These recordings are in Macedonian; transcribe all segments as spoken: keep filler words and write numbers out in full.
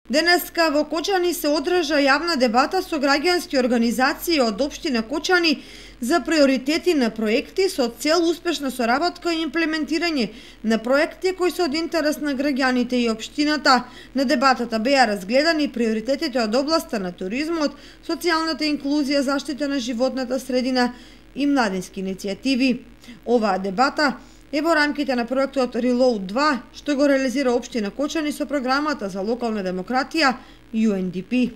Денеска во Кочани се одржа јавна дебата со граѓански организации од општина Кочани за приоритети на проекти со цел успешна соработка и имплементирање на проекти кои се од интерес на граѓаните и општината. На дебатата беа разгледани приоритетите од областа на туризмот, социјалната инклузија, заштита на животната средина и младински иницијативи. Оваа дебата е во рамките на проектот Reload два, што го реализира општина Кочани со програмата за локална демократија Ю Ен Ди Пи.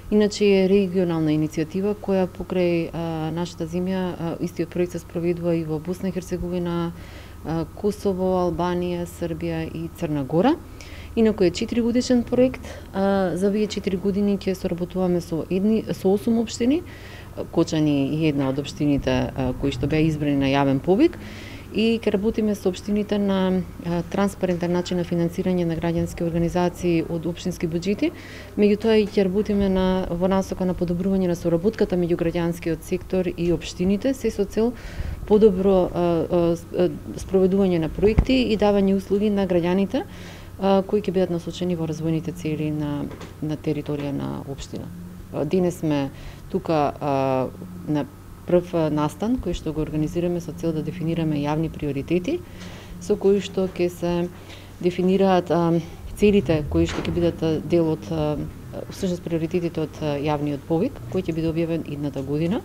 Иначе е регионална иницијатива која покрај а, нашата земја, а, истиот проект се спроведува и во Босна и Херцеговина, а, Косово, Албанија, Србија и Црна Гора. Инаку е четири годишен проект, а, за овие четири години ќе соработуваме со едни со осум општини. Кочани е една од општините а, кои што беа избрани на јавен повик, и ќе работиме со општините на а, транспарентен начин на финансирање на граѓански организации од општински буџети. Меѓутоа и ќе работиме на во насока на подобрување на соработката меѓу граѓанскиот сектор и општините, се со цел подобро а, а, спроведување на проекти и давање услуги на граѓаните а, кои ќе бидат насочени во развојните цели на на територија на општина. Денес сме тука а, на прв настан кој што го организираме со цел да дефинираме јавни приоритети, со кои што ќе се дефинираат а, целите кои што ќе бидат дел од а, всушност приоритетите од а, јавниот повик, кој ќе биде објавен идната година.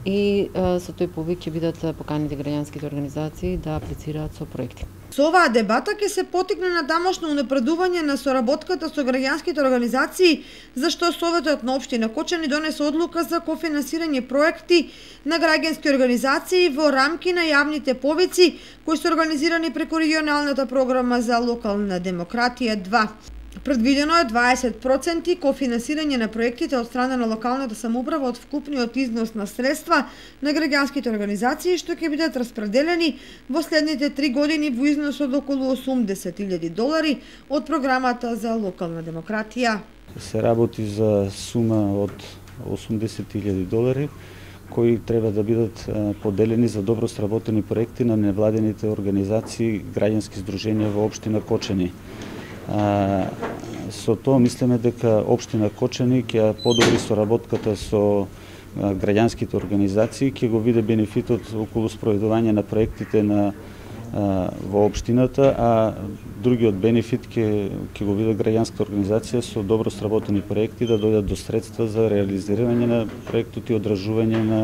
И а, со тој повик ќе бидат поканети граѓанските организации да аплицираат со проекти. Со оваа дебата ќе се потикне на тамошно унапредување на соработката со граѓанските организации, зашто Советот на општина Кочани донесе одлука за кофинансирање проекти на граѓански организации во рамки на јавните повици кои се организирани преку регионалната програма за локална демократија два. Предвидено е дваесет проценти кофинансирање на проектите од страна на локалната самоуправа од вкупниот износ на средства на граѓанските организации, што ќе бидат распределени во следните три години во износ од околу осумдесет илјади долари од програмата за локална демократија. Се работи за сума од осумдесет илјади долари кои треба да бидат поделени за добро сработени проекти на невладените организации, граѓански здруженија во општина Кочани. А, со тоа мислиме дека општина Кочани ќе подобри соработката со а, граѓанските организации, ќе го види бенефитот околу спроведување на проектите на а, во општината, а другиот бенефит ќе ќе го види граѓанската организација со добро сработени проекти да дојдат до средства за реализирање на проектот и одржување на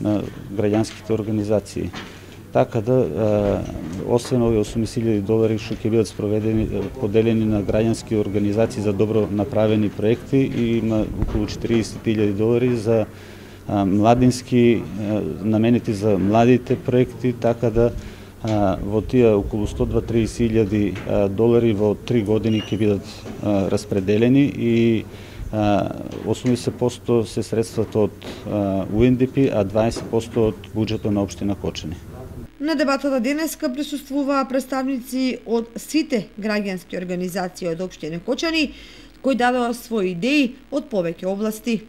на граѓанските организации. Така да, освен овие осумдесет илјади долари што ќе бидат спроведени, поделени на граѓански организации за добро направени проекти, и има околу четириесет илјади долари за а, младински, а, наменети за младите проекти, така да а, во тие околу сто до триесет илјади долари во три години ќе бидат а, распределени, и а, осумдесет проценти се средствата од а, Ю Ен Ди Пи, а дваесет проценти од буџетот на општина Кочани. На дебатата денеска присуствуваа представници од сите граѓански организации од општина Кочани, кои дадоа своји идеи од повеќе области.